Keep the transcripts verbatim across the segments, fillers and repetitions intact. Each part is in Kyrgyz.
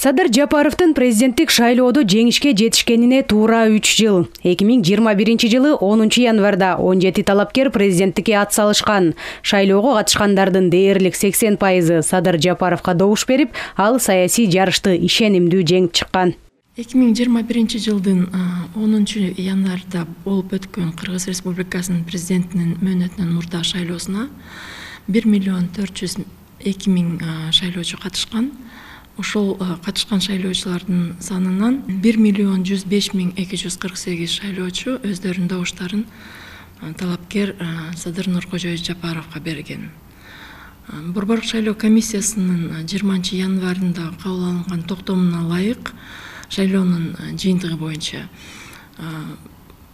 Садыр Жапаровдун президенттик шайлоодо жеңишке жетишкенине туура үч жыл. эки миң жыйырма биринчи жылы онунчу январда он жети талапкер президенттикке ат салышкан. Шайлоого катышкандардын дээрлик сексен пайызы Садыр Жапаровго добуш берип, ал саясий жарышты ишенимдүү жеңип чыккан. эки миң жыйырма биринчи жылдын онунчу январда болуп өткөн Кыргыз Республикасынын президентинин мөөнөтүнөн мурда шайлоосуна бир миллион төрт жүз эки миң шайлоочу катышкан. Ошол катышкан шайлоочулардын санынан бир миллион жүз беш миң эки жүз кырк сегиз шайлоочу өздөрүнүн добуштарын талапкер Садыр Нуркожоевич Жапаровго берген. Борбордук шайлоо комиссиясынын жыйырманчы январында кабыл алынган токтомуна ылайык шайлоонун жыйынтыгы боюнча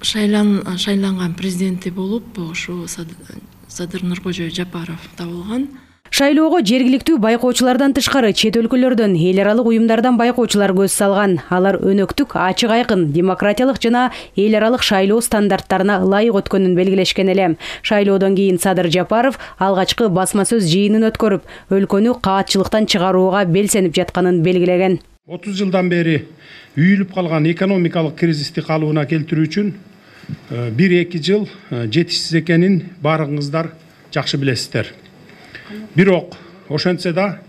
шайланган президенти болуп ошо Садыр Нуркожоевич Жапаров табылган. Шайлоого жергиликтүү байкоочулардан тышкары чет өлкөлөрдөн эл аралык уюмдардан байкоочулар көз салган. Алар өнөктүк, ачык айкын, демократиялык жана эл аралык шайлоо стандарттарына ылайык өткөнүн белгилешкен эле. Шайлоодон кийин Садыр Жапаров алгачкы басма сөз жыйынын өткөрүп, өлкөнү каатчылыктан чыгарууга белсенип жатканын белгилеген. отуз жылдан бери үйүлүп калган экономикалык кризисти калыбына келтирүү үчүн бир эки жыл жетишсиз экенин баарыңыздар жакшы билесиздер. Бирок ошентсе да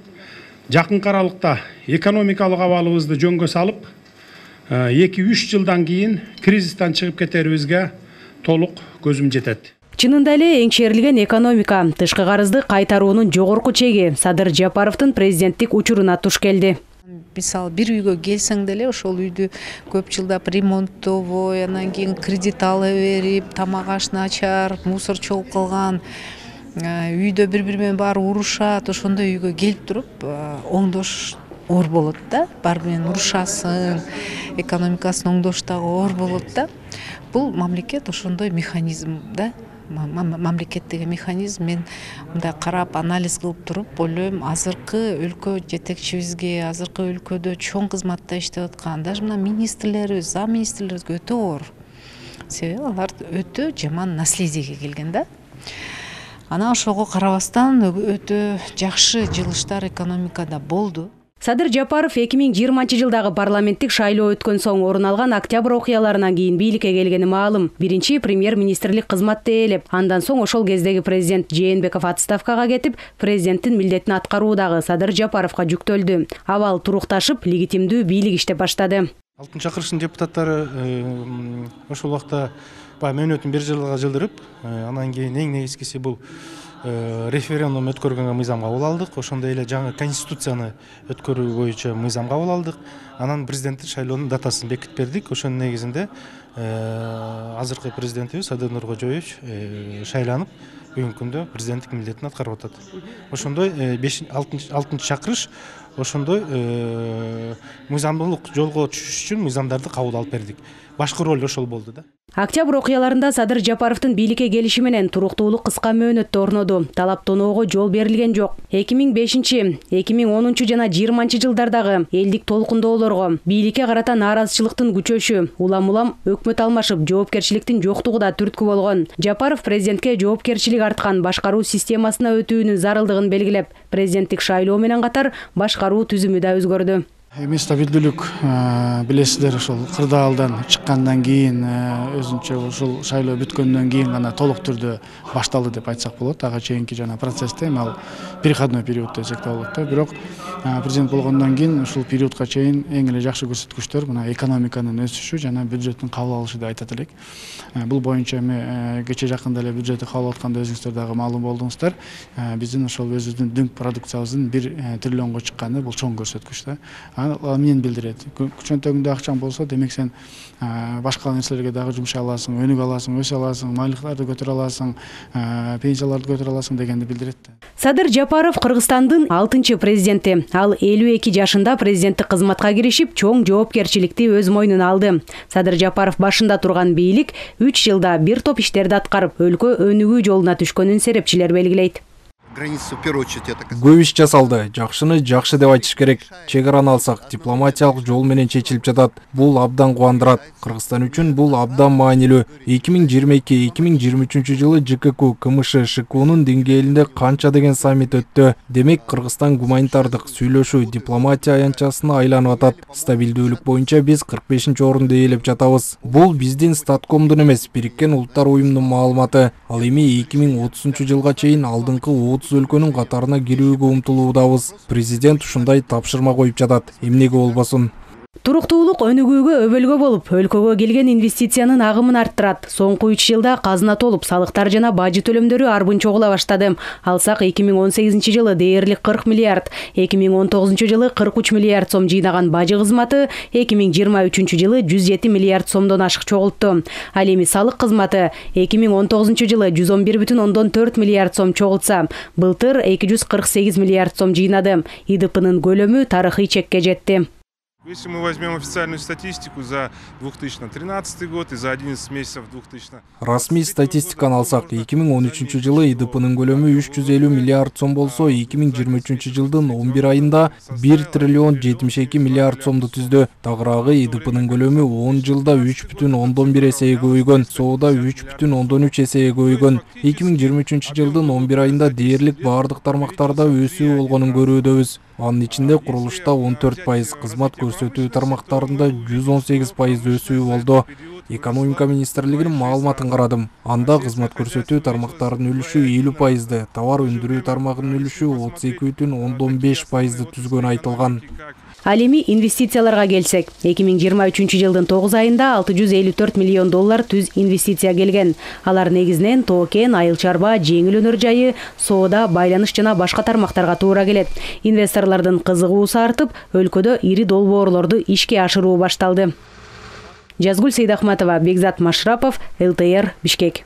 жакынкы аралыкта экономикалык абалыбызды жөнгө салып, эки үч жылдан кийин кризистен чыгып кетерибизге толук көзүм жетет. Чынында эле эңшерилген экономика, тышкы карызды кайтаруунун жогорку чеги Садыр Жапаровдун президенттик учуруна туш келди. Мисалы бир үйгө келсең деле ошол үйдү көп жылдап ремонттобой, анан кийин кредит ала берип, тамак ашын ачар, мусор чогуп калган, үйдө бири бири менен баары урушат, ошондой үйгө келип туруп оңдош оор болот да. Баары менен урушасың, экономикасын оңдош дагы оор болот да. Бул мамлекет ошондой механизм да. Мамлекет деген механизм, мен мындай карап анализ кылып туруп ойлойм, азыркы өлкө жетекчибизге, азыркы өлкөдө чоң кызматта иштеп аткан даже мына министрлерибиз, зам министрлерибизге өтө оор. Себеби алар өтө жаман наследиеге келген да. Ана ошого карабастан өтө жакшы жылыштар экономикада болду. Садыр Жапаров эки миң жыйырманчы жылдагы парламенттик шайлоо өткөн соң орун алган октябрь окуяларынан кийин бийликке келгени маалым. Биринчи премьер-министрлик кызматты ээлеп, андан соң ошол кездеги президент Жээнбеков отставкага кетип, президенттин милдетин аткаруу дагы Садыр Жапаровго жүктөлдү. Абал турукташып, легитимдүү бийлик иштеп баштады. алтынчы чакырыштын депутаттары ошол убакта баягы мөөнөтүн бир жылга жылдырып, анан кийин эң негизгиси бул референдум өткөргөнгө мыйзам кабыл алдык. Ошондой эле жаңы конституцияны өткөрүү боюнча мыйзам кабыл алдык. Анан президенттик шайлоонун датасын бекитип бердик. Ошонун негизинде азыркы президентибиз Садыр Нуркожоевич шайланып, бүгүнкү күндө президенттик милдетин аткарып атат. Ошондой алтынчы чакырыш ошондой мыйзамдуулук жолго түшүш үчүн мыйзамдарды кабыл алып бердик. Башкы роль ошол болду да. Октябрь окуяларында Садыр Жапаровдун бийликке келиши менен туруктуулук кыска мөөнөттө орноду. Талаптоноого жол берилген жок. эки миң бешинчи, эки миң онунчу жана жыйырманчы жылдардагы элдик толкундоолорго, бийликке карата нааразычылыктын күчөшү, улам-улам өкмөт алмашып, жоопкерчиликтин жоктугу да түрткү болгон. Жапаров президентке жоопкерчилик арткан башкаруу системасына өтүүнүн зарылдыгын белгилеп, президенттик шайлоо менен катар башкаруу түзүмү да өзгөрдү. Эми стабилдүүлүк билесиздер, ошол кырдаалдан чыккандан кийин өзүнчө ушул шайлоо бүткөндөн кийин гана толук түрдө башталды деп айтсак болот. Ага чейинки жана процессте ал переходной период десек да болот да. Бирок президент болгондон кийин ушул периодко чейин эң эле жакшы көрсөткүчтөр мына экономиканын өсүшү жана бюджеттин кабыл алышы деп айтат элек. Бул боюнча эми кече жакында эле бюджетти кабыл алганда өзүңүздөр дагы маалым болдуңуздар. Биздин ошол өзүбүздүн дүң продукциябыздын бир триллионго чыкканы бул чоң көрсөткүч да. Мен билдирет. Чөнтөгүңдө акчаң болсо, демек сен башка нерселерге дагы жумшай аласың, өнүгө аласың, өсө аласың, майлыктарды көтөрө аласың, пенсияларды көтөрө аласың дегенди билдирет. Садыр Жапаров Кыргызстандын алтынчы президенти. Ал элүү эки жашында президенттик кызматка киришип, чоң жоопкерчиликти өз мойнуна алды. Садыр Жапаров башында турган бийлик үч жылда бир топ иштерди аткарып, өлкө өнүгүү жолуна түшкөнүн серепчилер белгилейт. Көп иш жасалды. Жакшыны жакшы деп айтыш керек. Чек араны алсак, дипломатиялык жол менен чечилип жатат. Бул абдан кубандырат. Кыргызстан үчүн бул абдан маанилүү. эки миң жыйырма эки эки миң жыйырма үчүнчү жылы ЖКК КМШ ШКУнун деңгээлинде канча деген саммит өттү. Демек Кыргызстан гуманитардык сүйлөшүү дипломатия аянтчасына айланып атат. Стабилдүүлүк боюнча биз кырк бешинчи орунду ээлеп жатабыз. Бул биздин Статкомдун эмес, Бириккен Улуттар уюмунун маалыматы. Ал эми эки миң отузунчу жылга чейин алдыңкы отуз өлкөнүн катарына кирүүгө умтулуудабыз. Президент ушундай тапшырма коюп жатат. Эмнеге болбосун? Туруктуулук өнүгүүгө өбөлгө болуп, өлкөгө келген инвестициянын агымын арттырат. Соңку үч жылда казына толуп, салыктар жана бажы төлөмдөрү арбын чогула баштады. Алсак эки миң он сегизинчи жылы дээрлик кырк миллиард, эки миң он тогузунчу жылы кырк үч миллиард сом жыйнаган бажы кызматы эки миң жыйырма үчүнчү жылы жүз жети миллиард сомдон ашык чогултту. Ал эми салык кызматы эки миң он тогузунчу жылы жүз он бир бүтүн ондон төрт миллиард сом чогултса, былтыр эки жүз кырк сегиз миллиард сом жыйнады. ИДПнын көлөмү тарыхый чекке жетти. Если мы возьмем официальную статистику за две тысячи тринадцатый год и за одиннадцать месяцев двухтысячного... Расмий статистиканы алсак, эки миң он үчүнчү жылы ИДПнын көлөмү үч жүз элүү миллиард сом болсо, эки миң жыйырма үчүнчү жылдын он бир айында бир триллион жетимиш эки миллиард сомду түздү. Тагыраагы ИДПнын көлөмү он жылда үч бүтүн ондон бир эсеге көбөйгөн, соода үч бүтүн ондон үч эсеге көбөйгөн. эки миң жыйырма үчүнчү жылдын он бир айында дээрлик бардык тармактарда өсүү болгонун көрүүдөбүз. Анын ичинде курулушта он төрт пайыз, кызмат көрсөтүү тармактарында жүз он сегиз пайыз өсүү болду. Экономика министрлигинин маалыматын карадым. Анда кызмат көрсөтүү тармактарынын үлүшү элүү пайызды, товар өндүрүү тармагынын үлүшү отуз эки бүтүн ондон беш пайызды түзгөнү айтылган. Ал эми инвестицияларга келсек, эки миң жыйырма үчүнчү жылдын тогуз айында алты жүз элүү төрт миллион доллар түз инвестиция келген. Алар негизинен тоо кен, айыл чарба, жеңил өнөр жайы, соода, байланыш жана башка тармактарга туура келет. Инвесторлордун кызыгуусу артып, өлкөдө ири долбоорлорду ишке ашыруу башталды. Жазгүл Сейдахматова, Бекзат Машрапов, эл тэ эр, Бишкек.